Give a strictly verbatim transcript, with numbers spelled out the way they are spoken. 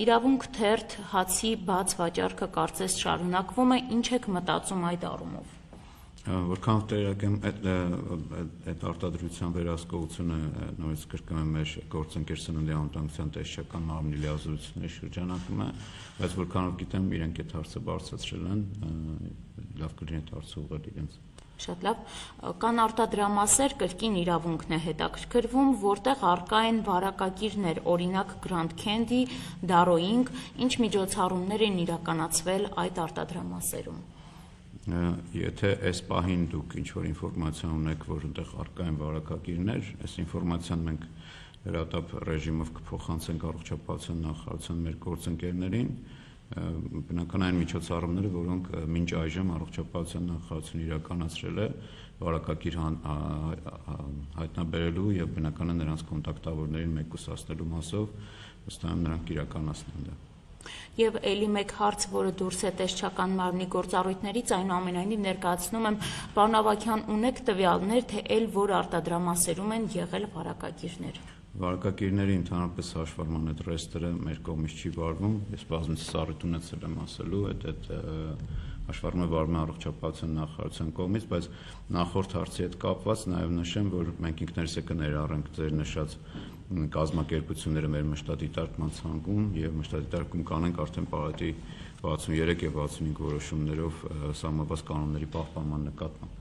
Իրավունք թերթ հացի բաց վաճառքը կարծես շարունակվում է, ինչ եք մտածում այդ առումով։ Որքանով տեղյակ եմ, այդ արտադրության վերահսկողությունը նորից կրկնում եմ մեր գործընկեր Սննդի անվտանգության տեսչական մարմնի լիազորությունների շրջանակում է, բայց որքանով գիտեմ, իրենք այդ հարցը բարձրացրել են, լավ կլինի այդ հարցը ուղղել իրենց։ Շատ լավ, կան արտադրամասեր, կրկին իրավունքն է հետաքրքրվում, որտեղ առկա են վարակագիրներ, օրինակ Grand Candy, Darrowing, ինչ միջոցառումներ են իրականացվել այդ արտադրամասերում։ Եթե այս պահին դուք ինչ-որ ինֆորմացիա ունեք, որ այնտեղ առկա են վարակագիրներ, այս ինֆորմացիան մենք հրատապ ռեժիմով կփոխանցենք առողջապահության նախարարության մեր գործընկերներին, բնական այն միջոցառումները, որոնք մինչ այժմ առողջապահության նախարարությունը իրականացրել է վարակագիր հայտնաբերելու եւ բնական է նրանց կոնտակտավորներին մեկուսացնելու մասով, ըստ այդմ նրանք իրականացնեն դա։ Եվ ելի մեկ հարց, որը դուրս է տեսչական մարմնի գործառույթներից, այնուամենայնիվ ներկայացնում եմ, պարոն Ավագյան, ունեք տվյալներ, թե ել որ արտադրամասերում են եղել վարակագիրներ։ Վարակագիրների ընդհանրապես հաշվառման այդ ռեստերը մեր կողմից չի վարվում, ես բազմիցս առիթ ունեցել եմ ասելու, այդ այդ հաշվառումը վարվում է առողջապահության նախարարության կողմից, բայց նախորդ հարցի հետ կապված նաև նշեմ, որ մենք ինքներս է կներառենք ձեր նշած կազմակերպությունները մեր մշտադիտարկման ցանկում եւ մշտադիտարկում կանենք արդեն պարետի վաթսուններեք եւ վաթսունհինգ որոշումներով սահմանված կանոնների պահպանման նկատմամբ։